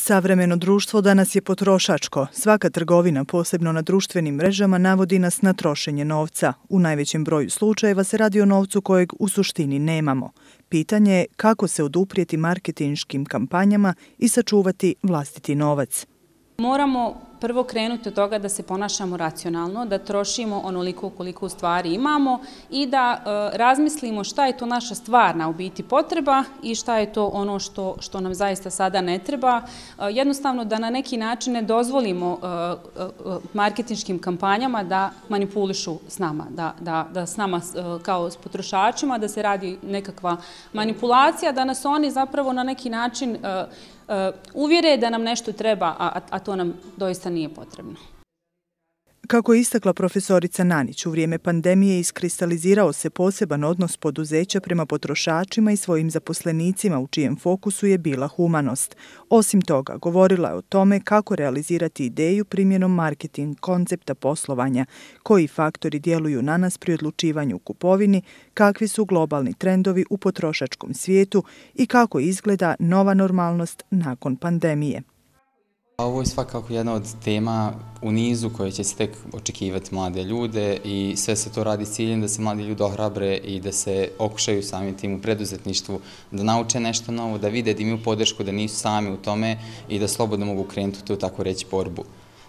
Savremeno društvo danas je potrošačko. Svaka trgovina, posebno na društvenim mrežama, navodi nas na trošenje novca. U najvećem broju slučajeva se radi o novcu kojeg u suštini nemamo. Pitanje je kako se oduprijeti marketinškim kampanjama i sačuvati vlastiti novac. Moramo prvo krenuti od toga da se ponašamo racionalno, da trošimo onoliko koliko u stvari imamo i da razmislimo šta je to naša stvarna u biti potreba i šta je to ono što nam zaista sada ne treba. Jednostavno da na neki način ne dozvolimo marketinškim kampanjama da manipulišu s nama, da s nama kao s potrošačima, da se radi nekakva manipulacija, da nas oni zapravo na neki način uvjere da nam nešto treba, a to nam doista nije potrebno. Kako je istakla profesorica Nanić, u vrijeme pandemije iskristalizirao se poseban odnos poduzeća prema potrošačima i svojim zaposlenicima u čijem fokusu je bila humanost. Osim toga, govorila je o tome kako realizirati ideju primjenom marketing koncepta poslovanja, koji faktori djeluju na nas pri odlučivanju u kupovini, kakvi su globalni trendovi u potrošačkom svijetu i kako izgleda nova normalnost nakon pandemije. Ovo je svakako jedna od tema u nizu koje će se tek očekivati mlade ljude i sve se to radi s ciljem da se mladi ljudi ohrabre i da se okušaju samim tim u preduzetništvu, da nauče nešto novo, da vide da imaju podršku, da nisu sami u tome i da slobodno mogu krenuti u tu, tako reći, borbu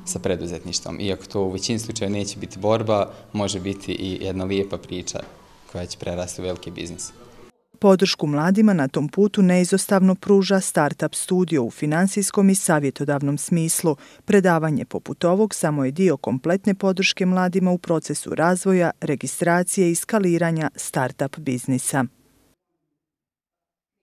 sa preduzetništvom. Iako to u većini slučajeva neće biti borba, može biti i jedna lijepa priča koja će prerasti u veliki biznis. Podršku mladima na tom putu neizostavno pruža Startup Studio u finansijskom i savjetodavnom smislu. Predavanje poput ovog samo je dio kompletne podrške mladima u procesu razvoja, registracije i skaliranja startup biznisa.